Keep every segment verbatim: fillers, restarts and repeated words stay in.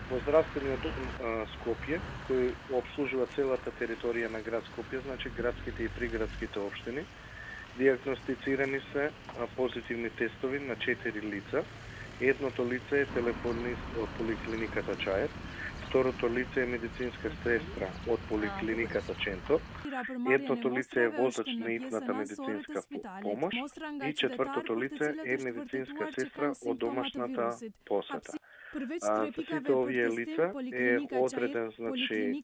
Во здравствениот дом а, Скопје, кој обслужува целата територија на град Скопје, значи градските и приградските општини, диагностицирани се а, позитивни тестови на четири лица. Едното лице е телефонист од поликлиниката Чаир, второто лице е медицинска сестра од поликлиниката Ченто, едното лице е возач на итната медицинска помош и четвртото лице е медицинска сестра од домашната посета. А, за сите овие лица е одреден, значи,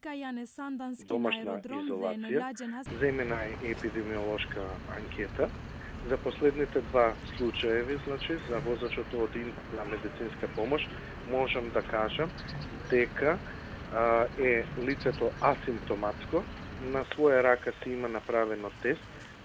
домашна изолација, земена е епидемиолошка анкета. За последните два случаеви, значи, за возачот од интна медицинска помош, можам да кажам дека а, е лицето асимптоматско, на своја рака си има направено тест,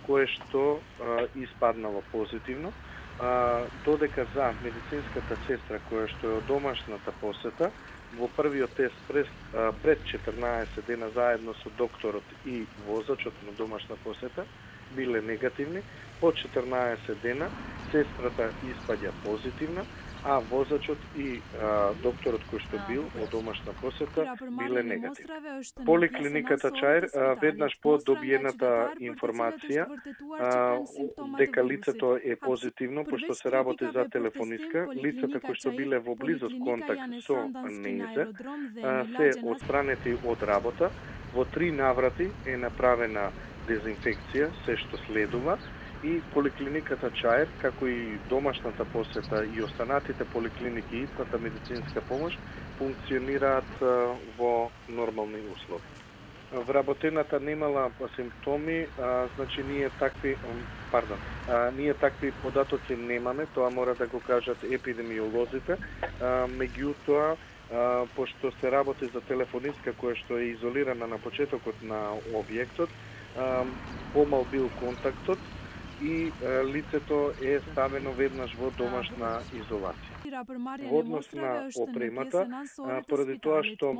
кое што а, испаднало позитивно, а, додека за медицинската сестра, која што е од домашната посета, во првиот тест пред, а, пред четрнаесет дена заедно со докторот и возачот на домашна посета, биле негативни, по четрнаесет дена сестрата испаѓа позитивна, а возачот и а, докторот кој што бил од домашна посета биле негативни. Поликлиниката Чаир а, веднаш по добиената информација а, дека лицето е позитивно, пошто се работи за телефонистка, лицата кои што биле во близок контакт со нејзе се отстранети од работа. Во три наврати е направена дезинфекција, се што следува, и поликлиниката Чаир, како и домашната посета и останатите поликлиники и итната медицинска помош, функционираат во нормални услови. Вработената немала симптоми, а, значи ние такви, пардон, а, ние такви податоци немаме, тоа мора да го кажат епидемиолозите, а, меѓутоа, а, пошто се работи за телефонистка која што е изолирана на почетокот на објектот, а, помал бил контактот и а, лицето е ставено веднаш во домашна изолација. Во однос на опремата, а, поради тоа што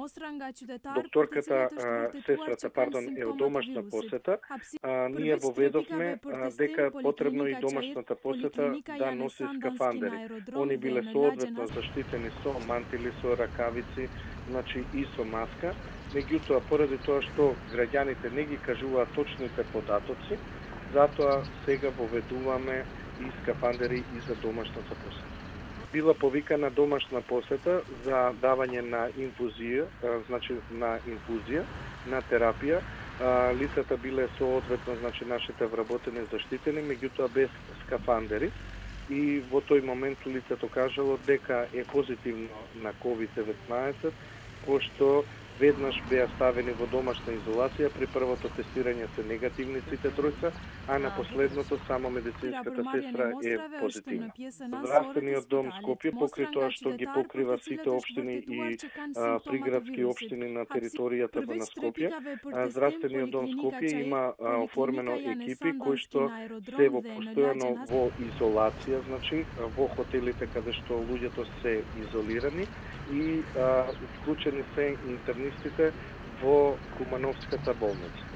докторката, а, сестрата, пардон, е од домашна посета, а, ние воведовме а, дека потребно и домашната посета да носи скафандери. Они биле соодветно заштитени со мантили, со ракавици, значи и со маска. Меѓутоа, поради тоа што граѓаните не ги кажуваат точните податоци, затоа сега воведуваме и скафандери и за домашната посета. Била повикана домашна посета за давање на инфузија, значи на инфузија, на терапија. Лицата биле соодветно, значи нашите вработени заштитени, меѓутоа без скафандери. И во тој момент лицето кажало дека е позитивно на ковид деветнаесет, пошто веднаш беа ставени во домашна изолација, при првото тестирање се негативни сите тројца, а на последното само медицинската сестра е позитивна. Здравствениот дом Скопје, покрај тоа што ги покрива сите општини и а, приградски општини на територијата на Скопје, а, Здравствениот дом Скопје има а, оформено екипи кои што се во постојано во изолација, значи во хотелите каде што луѓето се изолирани и а, вклучени се интернистите во Кумановската болница.